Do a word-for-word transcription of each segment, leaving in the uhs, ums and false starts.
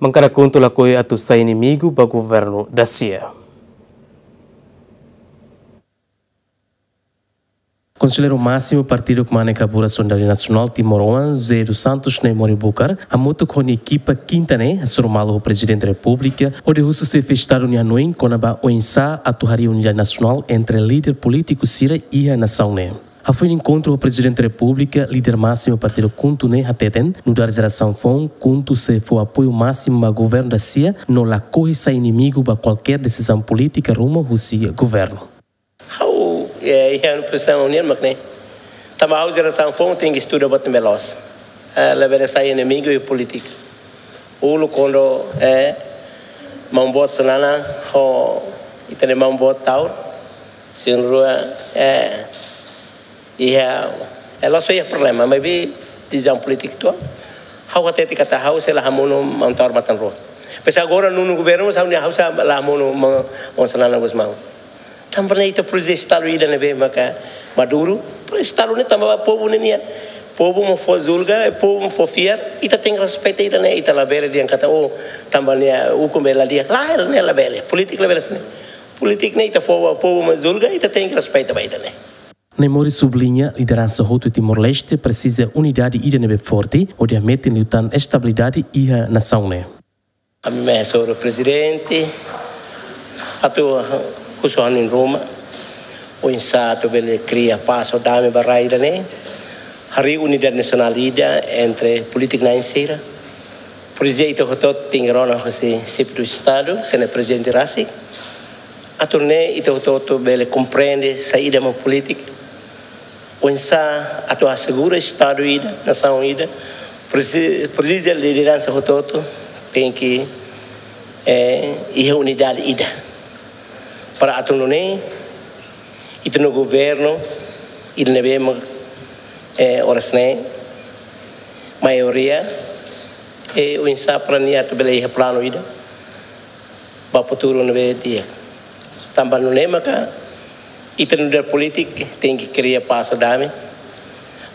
Bankada KHUNTO lakohi atu sai inimigu ba governu da-sia. Konselleiru Másimu Partidu Kmanek Kabura Solidariedade Nasionál Timor Oan, José dos Santos Naimori Bucar, hamutuk ho nia ekipa kinta ne'e hasoru malu ho Prezidente Repúblika hodi husu Xefe Estadu nia hanoin kona-ba oinsá atu harii unidade nasionál entre líder polítiku sira iha nasaun ne'e. Hafoin enkontru ho Prezidente Repúblika, líder másimu partidu KHUNTO ne'e hateten, nu'udar jerasaun foun, KHUNTO sei fó apoiu másimu ba governu da-sia no lakohi sai inimigu ba kualkér desizaun polítika ruma husi governu. Ha'u, eh, iha pozisaun nian mak ne'e. Tanba ha'u jerasaun foun tenke estuda buat ne'ebé loos. Eh, labele sai inimigu iha polítika. Uluk kuandu, eh, maun boot Xanana ho ita-nia maun boot Taur, sira na'in-rua, eh, iha, eh, la'ós iha problema, maibé desizaun polítika ituan. Ha'u hatete katak ha'u sei la hamonu maun Taur matan-rua. Depois agora nonu governu, mas ha'u-nia, ha'u sei la hamonu ma-, maun Xanana Gusmão. Tanba ne'e ita presiza Estadu ida ne'ebé maka maduru. Presiza Estadu ne'e tanba povu ne'e nian. Povu mak fó julga, povu mak fó fiar. Ita tenke respeita ida-ne'e, ita labele dehan katak, oh, tanba ne'e ukun bele dia. Lae, ne'e labele. Polítika labele hanesan ne'e. Polítika ne'e ita fó ba povu mak julga, ita tenke respeita ba ida-ne'e. Naimori subliña, lideransa hotu Timor-Leste presiza unidade ida ne'ebé forte, hodi hametin liután estabilidade iha nasaun ne'e. Ami hasoru Prezidente atu husu hanoin ruma oinsá atu bele kria pás ho dame ba rai ida-ne'e, harii unidade nasionál ida entre polítiku na'in sira. Presiza ita hotu-hotu tenke rona husi Xefe do Estadu, ita-nia Prezidente rasik. Atu nune'e ita hotu-hotu bele komprende saida mak polítika. Oinsá atu asegura Estadu ida, nasaun ida, presi-, presiza lideransa hotu-hotu tenke, eh, iha unidade ida. Para atu nune'e, ita-nia governu, ida ne'ebé mak, eh, oras ne'e, maioria, eh, oinsá para nia atu bele iha planu ida ba futuru ne'ebé di'ak. Tanba nune'e maka ita nu'udar polítiku tenke kria pás ho dame.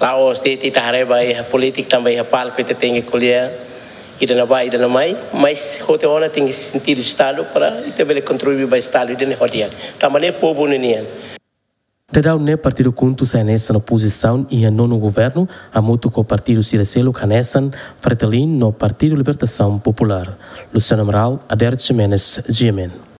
La'ós de'it ita haree ba iha polítika tanba iha palku ita tenke ko'alia ida-ne'ebá, ida-ne'e mai, mas hotu ona tenke sentidu Estadu para ita bele kontribui ba Estadu ida-ne'e ho di'ak. Tanba ne'e povu ne'e nian. Daudaun ne'e partidu KHUNTO sai hanesan opozisaun iha nonu governu, hamutuk ho partidu sira seluk hanesan Fretilin no Partidu Libertasaun Populár. Luciano Amaral, Adérito Ximenes, G M N.